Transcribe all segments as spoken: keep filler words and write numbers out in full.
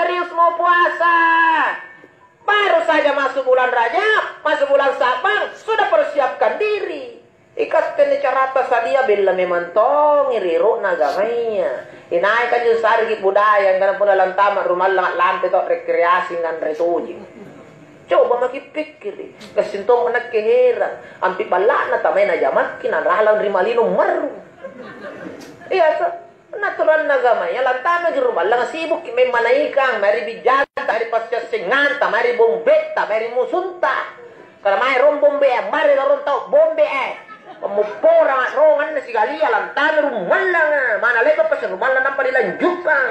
serius mau puasa. Baru saja masuk bulan Rajab, masuk bulan Sya'ban, sudah persiapkan diri. Ikatte anne carata sadia bella memang tongi ri ero'na agamaya. Inaika anjo sareki budaya angkana punna lantama rumallang a'lampe to rekreasi nganre tojeng. Coba maki pikkiri, gassing tommo nakke herang, ampi balla'na tamai najamakki naralang ri malino marru. Iya to? Punna aturanna agamaya, lantamaki rumallanga sibukki memmanaikang mae ri bijanta, mae ri passiassenganta, mae ri bombetta, mae ri musunta. Kala mae rong bombe, ammari larong tau bombe, eh. Pammopporanga rong anne sikalia, lantami rumallanga. Mana le'ba' pasi rumallang nampa nilanjukang.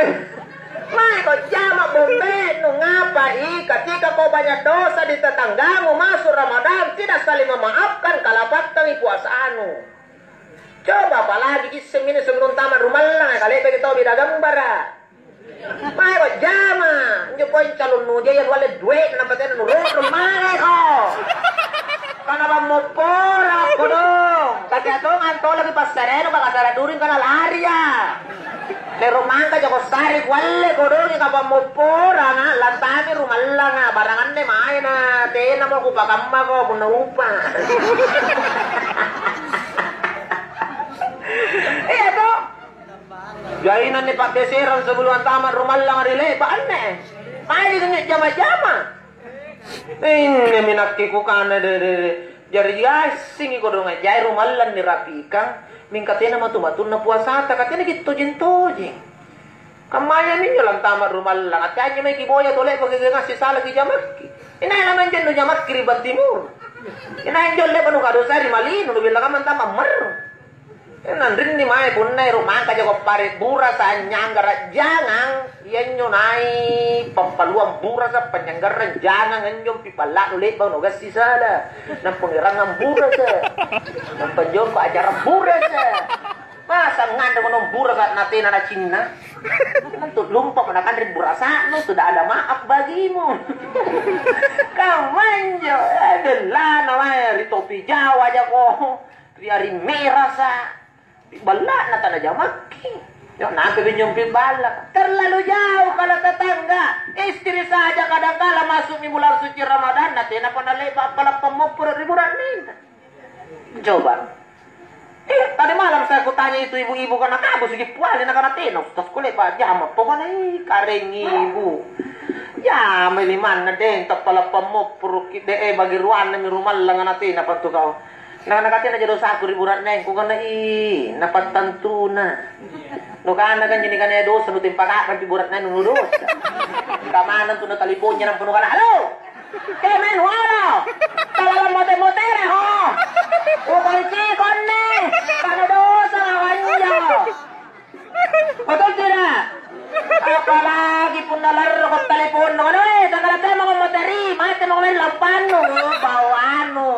Eh, mae ko jama bombe, nu ngapai? Ketika kau banyak dosa di tetanggamu, masuk Ramadan, tidak saling memaafkan, kalapattangi puasanu. Coba apalagi isseng minne sebelum tama rumallanga, kale'baki tau beda gambara. Mae ko jama, injo poeng calon nujaya nualle due'na nampa tena nurunrung mae ko. Kana pammopporang kodong, katea tongang tolaki passarenu pakasara during kana laria. Lero mangka jako sare kualle kodongi kapammopporanga, lantami rumallanga, barang anne maena, tenamo kupakammako punna upa. Iya to? Jaina anne pa'geserang sebelum antama rumallanga ri le'ba' anne. Maeni anne jama-jama. Innemi nakke kukana, de, de, de. Jari assingi kodonga jai rumallang nirapi'kang, mingka tena matu-matunna puasata, ka tenaki tojeng-tojeng. Kammaya minjo lantama rumallang, ate anjo mae kiboya tole pake ngassi salaki jamakki. Inai lamanjo nujamakki ri Bantimur. Inai anjo le'ba nukadosai ri Malino, nubella kamma antama marru. Nanrinni mae punna ero' mangka jako pare' burasa, anynyanggara' jangang, iyanjo nai pappaluang burasa, panynyanggarrang jangang anjo pi balla'nu le'bang nugassi sala, nampa ngerangngang burasa, nampa jomba acara burasa. Masa nganre monong burasa natena nacinna? Tentu lumpako nakanre burasa'nu, sudah ada maaf bagimu. Kammanjo, eh, bellana mae ri topi Jawa jako. Ri ari merasa, pi balla'na tanajamakki. Yo, nampa binjong pi balla'. Terlalu jauh kalau tetangga. Istri saja kadangkala masukmi bulan suci Ramadan, na tenapa nale'ba' appala' pammopporo' ri bura'nenna. Coba. Eh, tadi malam saya kutanya itu ibu-ibu, kana kabu sigi puali, nakana tena, Ustaz, kule'ba' jama. Pokokna, ih, kareng ibu. Jama limanna deng, tappala' pammopporo'ki, de, eh, bagi ruannami rumallanga na tenapa tu kau. Na, nakatena ja dosaku ri bura'nengku, kana, "Ih, napattantuna." Nukana kan jadi kana dosa, nutempa ka'rang pi bura'neng nu dosa. Kamanang tu nataliponnya nampa nukana, "Halo! Kemae nuolo! Talalang mote-motere ho! Ukonciko anne! Kana dosa lawanjo!" Betul tidak? Apalagi punna larroko teleponnu, "Aduh, eh, tanggal tema moteri, mate mako mae lampannu." Oh, bawanu.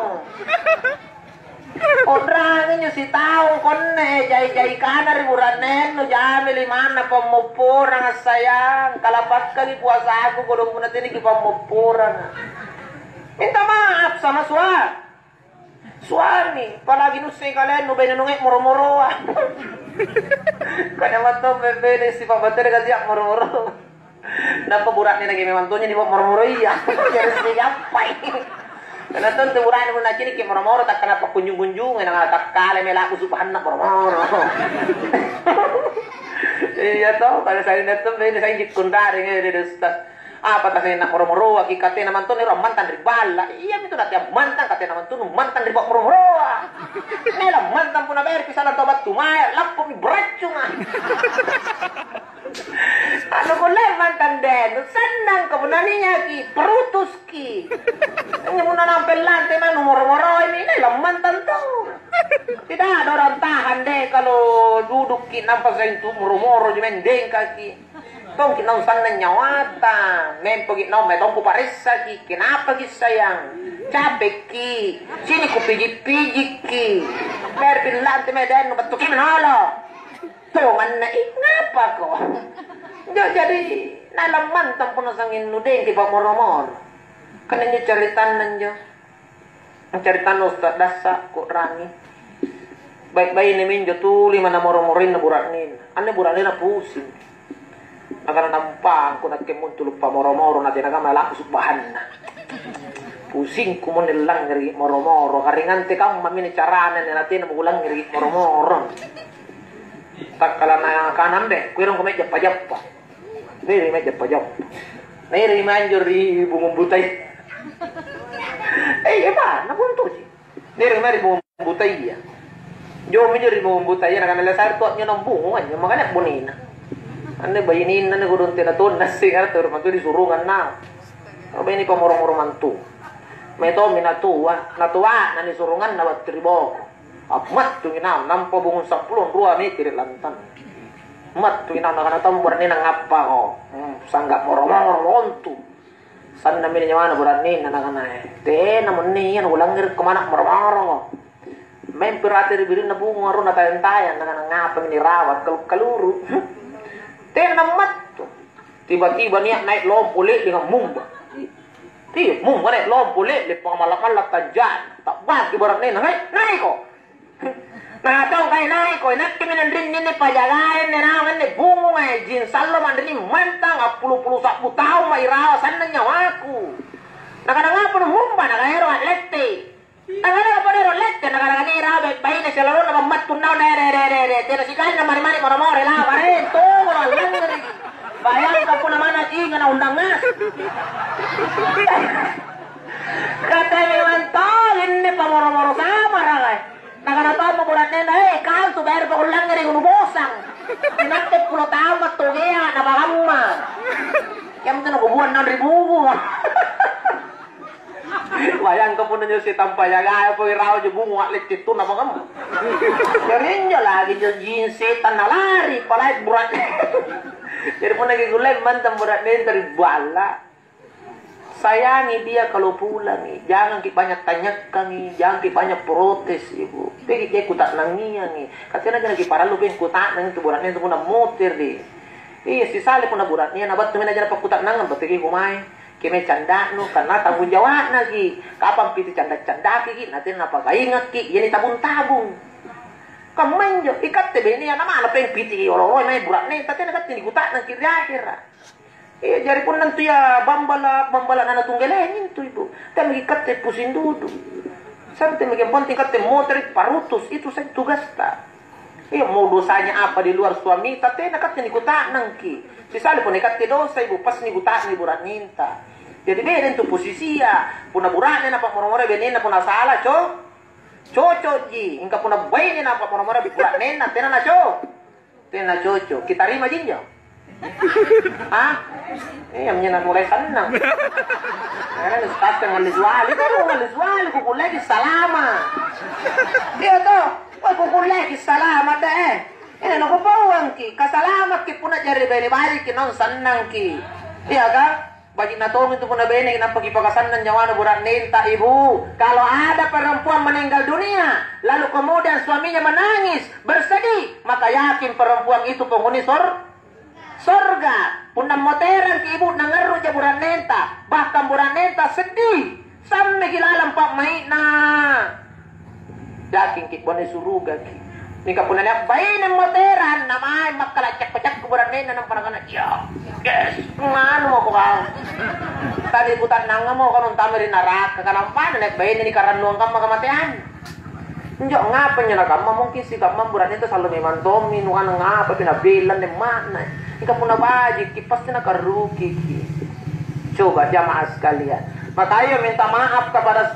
U'rangi injo sitaung konne, jai-jai kana ri bura'nennu, jami limanna pammopporanga, sayang. Kalapakkangi puasaku kodong punna tenaki pammopporanga. Minta maaf sama sua-, suami, apalagi nussei kalennu bene nunge moro-moroa. Kada matto bene sipa' batena kasi moro-moro. Nampa bura'ne naki memang tonja nipa' moro-moro iya. Jari sigappai. Karena tentu bura'ne punna naciniki moro-moro, takkana pakkunjung-kunjungi, na takkale melaku subahanna moro-moro. Iya to, pada saya ingat tuh, ini saya ikut kundaring ya, dia Ustaz. Apa tasena moro-moroa ki, katena mantong ero ammantang ri balla'. Iya mintu nate ammantang, katena mantong mantang ri moro-moroa. Nela mantang punna bayar pi salang tau battu mae, lappomi beraccunga. Anu kulle mantang deh, nu sennang kapunaniaki, perutuski. Hanya punna nampe lante manu moro-moroi mi, nela mantang tau. Tidak ada orang tahan deh kalau dudukki nampa saintu moro-moro jemeng dengkaki. Tongki naung sannang nyawata, mempoki naung mae tongku paressaki, kenapaki sayang? Capekki, sini kupiji-pijikki. Biar pillante mae dennu battuki menolo. Tonganna i, ngapako? Jo jadi nalang mantang punna sanging nudengki pamoro-moro. Kan injo caritanna injo. Caritanna Ustaz Dassa, ku'rangi. Bai'-baine minjo tuli mana moro-moroinna bura'nena. Anne bura'nena pusing. Nakana nampangku nakke muntulu pamoro-moro, natena kamma langsung bahanna. Pusingku mo nilangngeri moro-moro, karingante kamma mini carana natena mukulangngeri moro-moro. Takkala nakana ambe, kuerongko mae jappa-jappa. Neri mae jappa-jappa. Neri manjo ri bungung butai. Eh, iya, Pak, napuntuji. Neri mae ri bungung butaya. Jomi jo ri bungung butaya, nakana, "Lasar tua nyo nambungung anjo, makanya bonena." Anne bainenna ne kodong tena tonna sing, ada terus mantu disurungang na. Apa ini pamoro-moro mantu. Mae tommi natua, natua na nisurunganna battu ri boko. Ammattungi naung, nampa bungung sampulo rua meteri lantang. Ammattungi naung, nakana tau bura'nena ngappako. Hmm, sangga moro-moro lontu. Sannammi nyawana bura'nena, nakana, "Eh, tena munne iya nukulangngereko mana moro-moro." Mempi rate ri birinna bungung arona tayang-tayang, nakana, "Ngapami nirawa kalu-kaluru?" Tena nammattu. Tiba-tiba nia' nai' lompo le'lenga mumba. Iya, mumba nai' lompo le'leng, pangamalla-malla tanja'na. Ta'baki bura'nena, "Hei, naiko!" Nakana tong, "Kai naiko, inakkemi nanrinni anne pajagae anne naung anne bungunga, jin sallo manrinni mantang, appulu-pulu sa'bu taung mairawa sannang nyawaku." Nakana, "Ngapa numumba?" Nakana, "Ero' a'lette." Nakana, "Apa ero' lette?" Nakana, "Nia' irawa baine silalonna mammattu naung, de, de, de, de, de, tena sikali namari-mari moro-moro, lawa, re, tongolo allangngereki. Bayangkan punna manna inga na undang ngaseng." Kata memang tong anne pamoro-moro samara, eh. Nakana tommo bura'nena, "Eh, kau tu bayar pakullangngereko nubosang. Inakke pulo taung mattogea napakamma. Yang penting nakubuang naung ri buku." Bayangkan punna njo setang pajagae pole rawa jo bungung a'lette tu napakamma. Jari injo lagi jo jin setang nalari, palai bura'ne. Jari punna kikullei mantang bura'nenta ri balla. Sayangi dia kalau pulangi, janganki banyak tanyakangi, janganki banyak protes, Ibu. Teaki je kuta'nangiangi. Katenaki nakiparallu peng kuta'nang tu bura'nea tu punna motere. Iya, sisale punna bura'nea na battu mena jana pakkuta'nangang, battuki kumae. Keme canda'nu, karena tanggung jawa'naki. Kapang piti canda-candakiki, natena napakaingakki, iani tabung-tabung. Kammanjo, ikatte benea na mana peng piti olo-oloi mae bura'neta, tena katte nikuta'nangki ri ahera. Iya, jari punna intu iya bambala', bambala' nana tunggaleng intu, Ibu. Temmaki katte pusing dudu. Santemmaki, yang penting katte motere parutus, itu saja tugasta. Iya, mau dosanya apa di luar suamita, tena katte nikuta'nangki. Sisale punna ikatte dosa, Ibu, pas nikuta'nang bura'nenta. Jadi beda intu posisia. Punna bura'ne napa'moro-moro benena punna sala, co-, cocokji. Mingka punna baine napa'moro-moro bura'nena, tena naco-, Tena cocok. Kitarima jinjo? Hah? Iya, minjo namulai sannang. Karena ustaz yang ngalli suali, kan ngalli suali, kukulleki salama. Iya toh? Woi, kukulleki salama deh. Ini nakupauangki, kasalamakki punna jari bene bajiki naung sannangki. Iya kan? Baji'na tongi tu punna beneki nampa kipakasannang nyawana bura'nenta, Ibu. Kalau ada perempuan meninggal dunia, lalu kemudian suaminya menangis, bersedih, maka yakin perempuan itu penghuni sor-, sorga. Punna moterangki, Ibu, nangarruja bura'nenta, bahkan bura'nenta sedih, sammeki lalang pa'mai'na. Yakingki bone surugaki. Mingka punna nia' baine moterang, namai makkala' cakko-cakko bura'nenna, nampa nakana, "Iya, yes, nganu mako kau. Tadi kuta'nangamo kau nuntama ri naraka, kanampana nia' baine nikarannuang kamma kamateang." Injo ngapa injo nakamma, mungkin sikamma bura'nenta sallo memang tommi, nukanang apa pi nabella anne emakna. Mingka punna bajikki, pasti nakarrukiki. Coba jamaah sekalian. Makanya minta maaf kepada